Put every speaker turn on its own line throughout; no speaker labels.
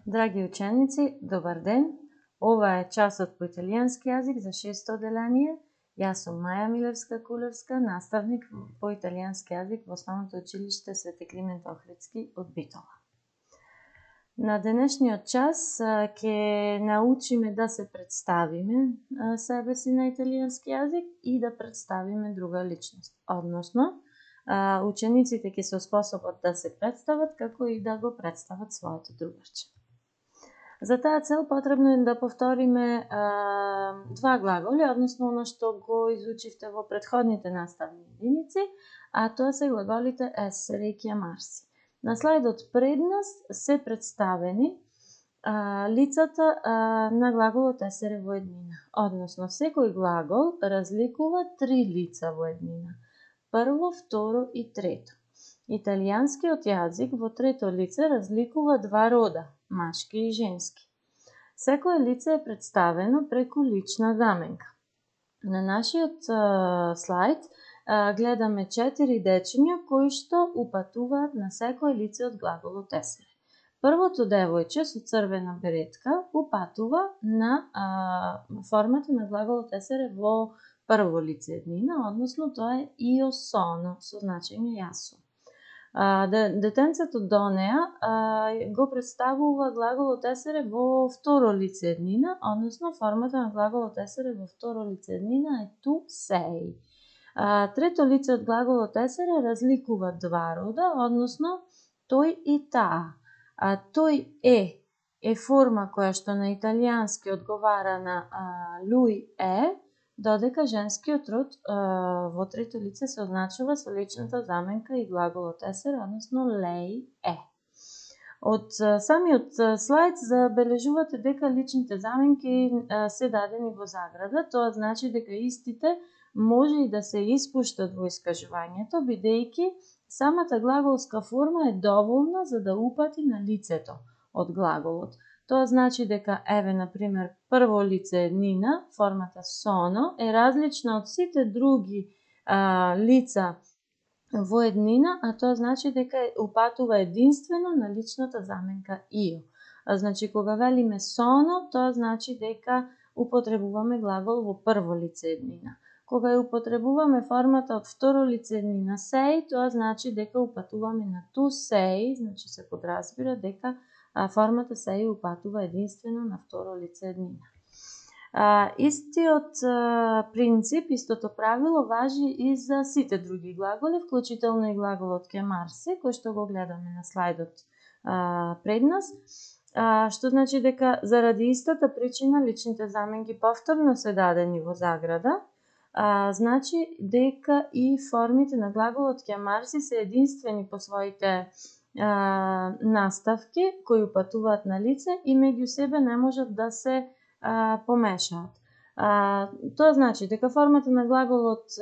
Драги ученици, добар ден! Ова е часот по италијански јазик за 6-то одделение. Јас сум Маја Милевска-Кулевска, наставник по италијански јазик во Основното училиште Свети Климент Охридски од Битола. На денешниот час ќе научиме да се представиме себе си на италијански јазик и да представиме друга личност. Односно, учениците ќе се способат да се представат како и да го представат своето другарче. За таа цел потребно е да повториме два глаголи, односно оно што го изучивте во претходните наставни единици, а тоа се глаголите essere и chiamarsi. На слайдот пред нас се представени лицата на глаголот essere во еднина. Односно, секој глагол разликува три лица во еднина. Прво, второ и трето. Италијанскиот јазик во трето лице разликува два рода, машки и женски. Секое лице е представено преку лична заменка. На нашиот слайд гледаме 4 дечиња кои што упатуваат на секое лице од глаголот essere. Првото девојче со црвена беретка упатува на формата на глаголот essere во прво лице еднина, односно тоа е io sono со значење јас сум. Детенцето до неа го представува глаголот essere во второ лице еднина, односно формата на глаголот essere во второ лице еднина е tu sei. Трето лице од глаголот essere разликува два рода, односно тој и таа. Тој е форма која што на италијански одговара на lui è, додека женскиот род во трето лице се означува со личната заменка и глаголот essere, односно lei è. Од самиот слайд забележувате дека личните заменки се дадени во заграда, тоа значи дека истите може и да се испуштат во искажувањето, бидејќи самата глаголска форма е доволна за да упати на лицето од глаголот. Тоа значи дека, еве, например, прво лице еднина, формата sono, е различна од сите други лица во еднина, а тоа значи дека упатува единствено на личната заменка io. Значи, кога велиме sono, тоа значи дека употребуваме глагол во прво лице еднина. Кога ја употребуваме формата од второ лице еднина sei, тоа значи дека упатуваме на tu sei, значи се подразбира дека формата sei упатува единствено на второ лице еднина. Истиот принцип, истото правило важи и за сите други глаголи, вклучително и глаголот chiamarsi, кој што го гледаме на слайдот пред нас, што значи дека заради истата причина личните заменки повторно се дадени во заграда, значи дека и формите на глаголот chiamarsi се единствени по своите наставки кои упатуваат на лице и меѓу себе не можат да се помешаат. Тоа значи дека формата на глаголот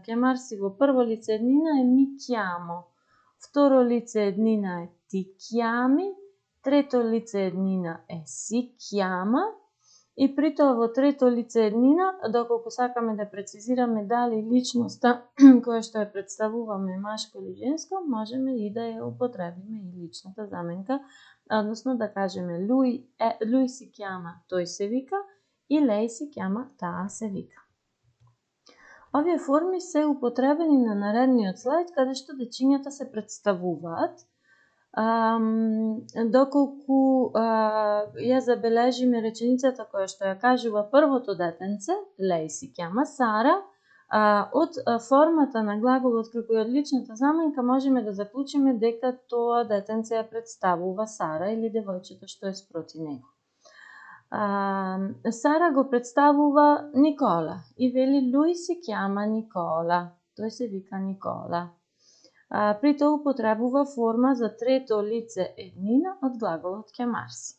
chiamarsi во прво лице еднина е mi chiamo, второ лице еднина е ti chiami, трето лице еднина е si chiama и при тоа во трето лице еднина, доколку сакаме да прецизираме дали личноста која што ја представуваме машко или женско, можеме и да ја употребиме и личната заменка, односно да кажеме lui si chiama, тој се вика, и lei si chiama, таа се вика. Овие форми се употребени на наредниот слайд, каде што дечињата се представуваат. Доколку ја забележиме реченицата која што ја кажува првото детенце, lei si chiama Сара, од формата на глаголот како и од личната заменка можеме да заклучиме дека тоа детенце ја представува Сара или девојчето што е спроти него. Сара го представува Никола и вели lui si chiama Nicola, тој се вика Никола. При тоа употребува форма за трето лице еднина од глаголот chiamarsi.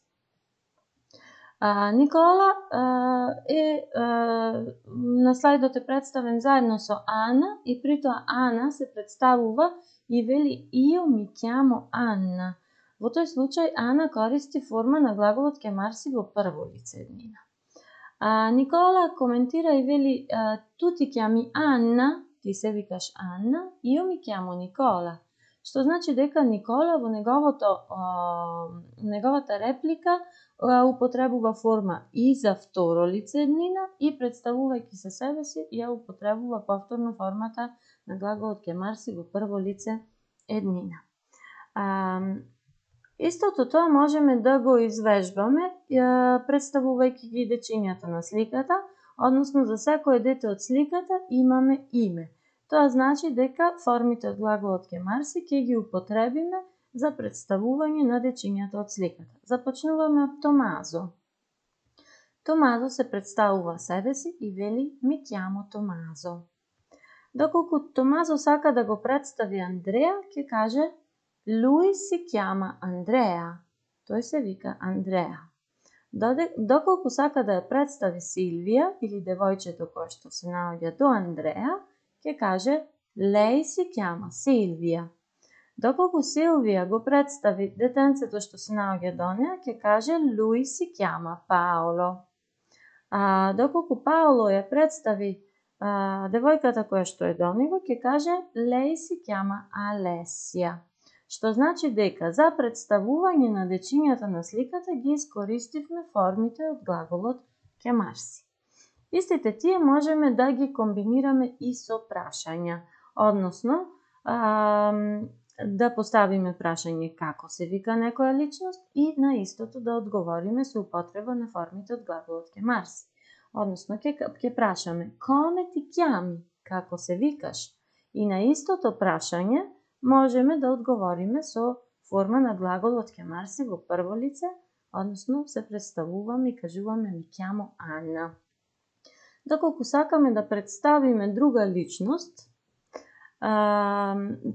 Никола на слайдот е представен заедно со Ана и при тоа Ана се представува и вели io mi chiamo Anna. Во тој случај Ана користи форма на глаголот chiamarsi во прво лице еднина. Никола коментира и вели tu ti chiami Anna, ти се викаш Анна, io mi chiamo Nicola. Што значи дека Никола во неговото неговата реплика употребува форма и за второ лице еднина и представувајќи се себе си ја употребува повторно формата на глаголот ќе марси во прво лице еднина. Истото тоа можеме да го извежбаме представувајќи ги дечињата на сликата, односно за секое дете од сликата имаме име. Тоа значи дека формите од глаголот ќе марси ќе ги употребиме за представување на дечињата од сликата. Започнуваме од Томазо. Томазо се представува себе си и вели ми chiamo Томазо. Доколку Томазо сака да го представи Андреа, ќе каже lui si chiama Andrea. Тој се вика Андреа. Доколку сака да ја представи Силвија или девојчето кое што се наоѓа до Андреа, ќе каже lei si chiama Silvia. Доколку Силвија го представи детенцето што се наоѓа до неа, ќе каже lui si chiama Paolo. Доколку Паоло ја представи девојката која што е до него, ќе каже lei si chiama Alessia. Што значи дека за представување на дечињата на сликата ги искористивме формите од глаголот ќе марси. Истите тие можеме да ги комбинираме и со прашања, односно да поставиме прашање како се вика некоја личност и на истото да одговориме со употреба на формите од глаголот ќе марси. Односно ќе прашаме come ti chiami, како се викаш, и на истото прашање можеме да одговориме со форма на глаголот ќе марси во прво лице, односно се представуваме и кажуваме ми chiamo Анна. Доколку сакаме да представиме друга личност,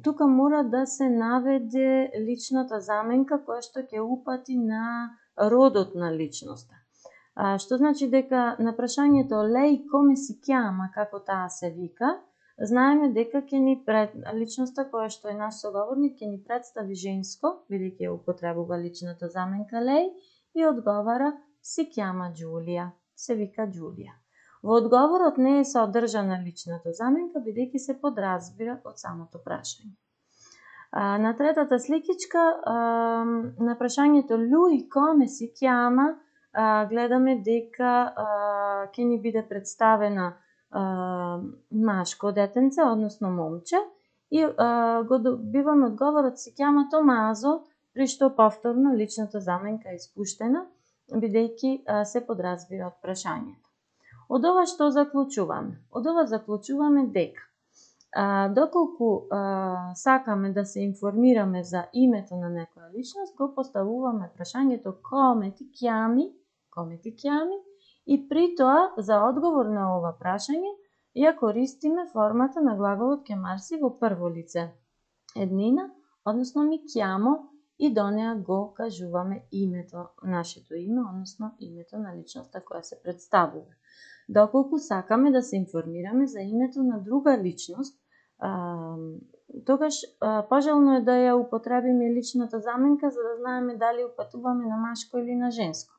тука мора да се наведе личната заменка која што ќе упати на родот на личноста. Што значи дека на прашањето lei come si chiama, како таа се вика, знаеме дека личноста која што е наш соговорник ќе ни представи женско, бидејќи ја употребува личната заменка lei, и одговара si chiama Giulia, се вика Џулија. Во одговорот не е содржана личната заменка, бидејќи се подразбира од самото прашање. На третата сликичка, на прашањето lui come si chiama, гледаме дека ќе ни биде представена машко детенце, односно момче, и го добиваме одговорот си chiama Томазо, при што повторно личната заменка е испуштена, бидејќи се подразбира од прашањето. Од ова што заклучуваме? Од ова заклучуваме дека доколку сакаме да се информираме за името на некоја личност, го поставуваме прашањето come ti chiami, и при тоа за одговор на ова прашање ја користиме формата на глаголот ќе марси во прво лице еднина, односно ми chiamo, и до неа го кажуваме името, нашето име, односно името на личноста која се представува. Доколку сакаме да се информираме за името на друга личност, тогаш пожелно е да ја употребиме личната заменка за да знаеме дали упатуваме на машко или на женско.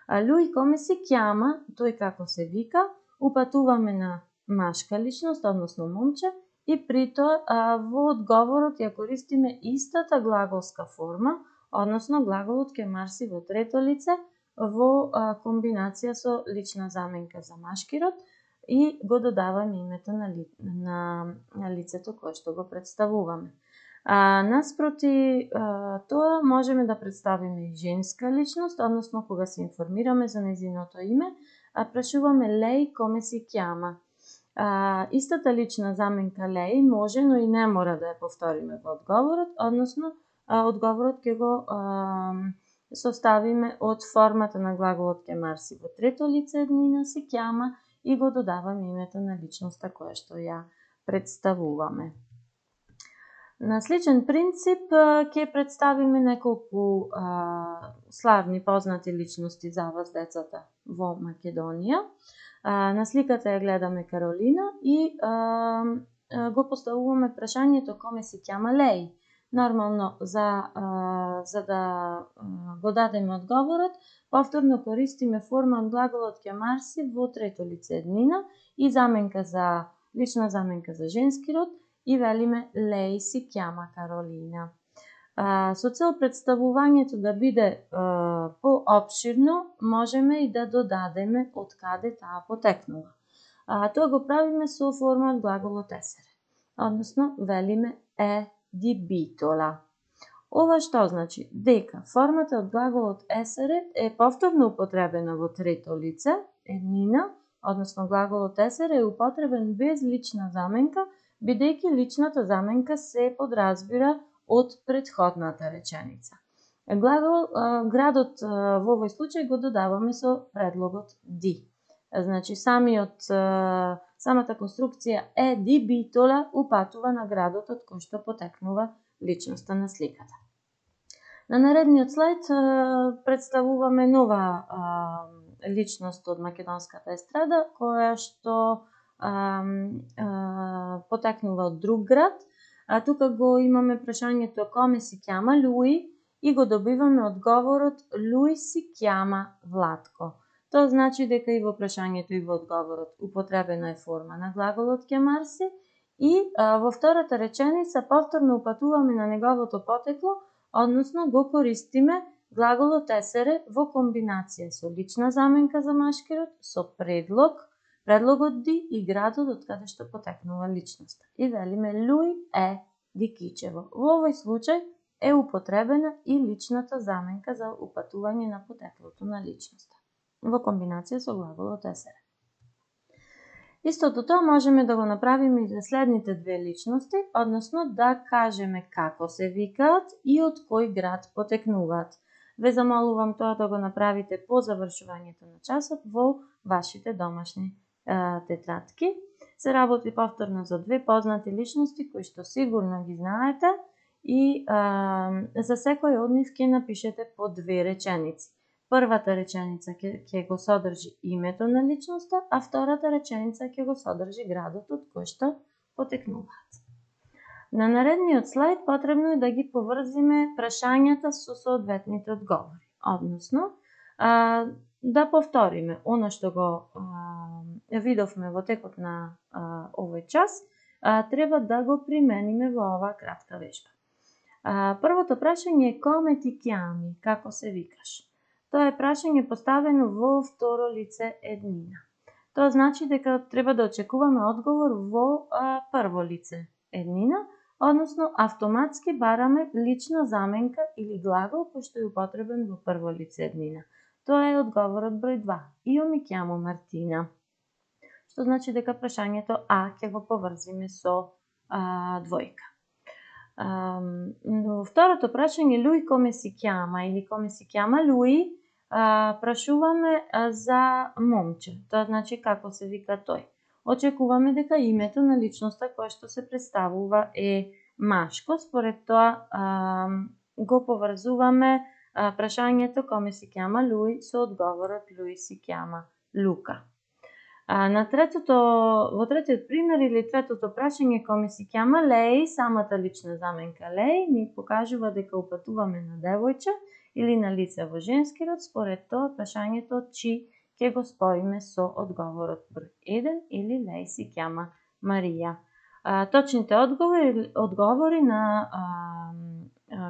Lui come si chiama, тој како се вика, упатуваме на машка личност, односно момче, и при тоа во одговорот ја користиме истата глаголска форма, односно глаголот ќе марси во трето лице во комбинација со лична заменка за машки род и го додаваме името на лицето кое што го представуваме. Наспроти тоа можеме да представиме и женска личност, односно кога се информираме за нејзиното име, прашуваме lei come si chiama. Истата лична заменка lei може, но и не мора да ја повториме во одговорот, односно одговорот ќе го составиме од формата на глаголот ќе марси во трето лице еднина si chiama и го додаваме името на личноста која што ја представуваме. На сличен принцип ќе представиме неколку славни познати личности за вас децата во Македонија. На сликата ја гледаме Каролина и го поставуваме прашањето come si chiama lei. Нормално за да го дадеме одговорот, повторно користиме форма од глаголот ќе марси во трето лице еднина и лична заменка за женски род и велиме lei si chiama Carolina. Со цел представувањето да биде поопширно, можеме и да додадеме од каде таа потекнува. Тоа го правиме со форма од глаголот есере, односно велиме ди битола. Ова што значи? Дека формата од глаголот есере е повторно употребена во трето лице, еднина, односно глаголот есере е употребен без лична заменка, бидејќи личната заменка се подразбира од претходната реченица. Градот во овој случај го додаваме со предлогот ди. Значи, самата конструкција ди битола упатува на градот од кој што потекнува личноста на сликата. На наредниот слајд представуваме нова личност од македонската естрада, која што потекнува од друг град. Тука го имаме прашањето коме си ќама Луи и го добиваме одговорот Луи си ќама Владко. Тоа значи дека и во прашањето и во одговорот употребена е форма на глаголот ќамарси и во втората реченица повторно упатуваме на неговото потекло, односно го користиме глаголот есере во комбинација со лична заменка за машкирот, со предлогот ди и градот од каде што потекнува личноста. И велиме Луи ди Кичево. Во овој случај е употребена и личната заменка за упатување на потеклото на личноста во комбинација со глаголот есере. Истото тоа можеме да го направиме и за следните две личности, односно да кажеме како се викаат и од кој град потекнуваат. Ве замолувам тоа да го направите по завршувањето на часот во вашите домашни тетрадки. Се работи повторно за две познати личности кои што сигурно ги знаете и за секој од нив ќе напишете по две реченици. Првата реченица ќе го содржи името на личноста, а втората реченица ќе го содржи градот од кој што потекнуваат. На наредниот слајд потребно е да ги поврзиме прашањата со соодветните одговори. Односно, да повториме она што го видовме во текот на овој час, треба да го примениме во оваа кратка вежба. Првото прашање е коме ти ќами, како се викаш? Тоа е прашање поставено во второ лице еднина. Тоа значи дека треба да очекуваме одговор во прво лице еднина, односно автоматски бараме лична заменка или глагол кој што е употребен во прво лице еднина. Тоа е одговорот број 2. Ио ми ќамо Мартина. Што значи дека прашањето ќе го поврзиме со двојка. Во второто прашање Луи коме си ќама или коме си ќама Луи, прашуваме за момче. Тоа значи како се вика тој. Очекуваме дека името на личноста која што се представува е машко, според тоа го поврзуваме прашањето коме си ќама Луи со одговорот Луи си ќама Лука. Во третиот пример или третото прашање коме си ќама Леј, самата лична заменка Леј ни покажува дека упатуваме на девојче или на лице во женски род, според тоа прашањето чи ќе го споиме со одговорот број 1 или Леј си ќама Марија. Точните одговори на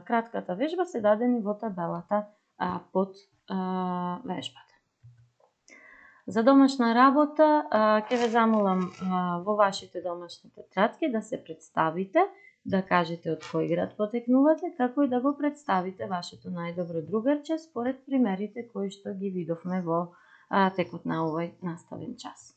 кратката вежба се дадени во табелата под вежбата. За домашна работа ќе ве замолам во вашите домашни тетрадки да се представите, да кажете од кој град потекнувате, како и да го представите вашето најдобро другарче според примерите кои што ги видовме во текот на овој наставен час.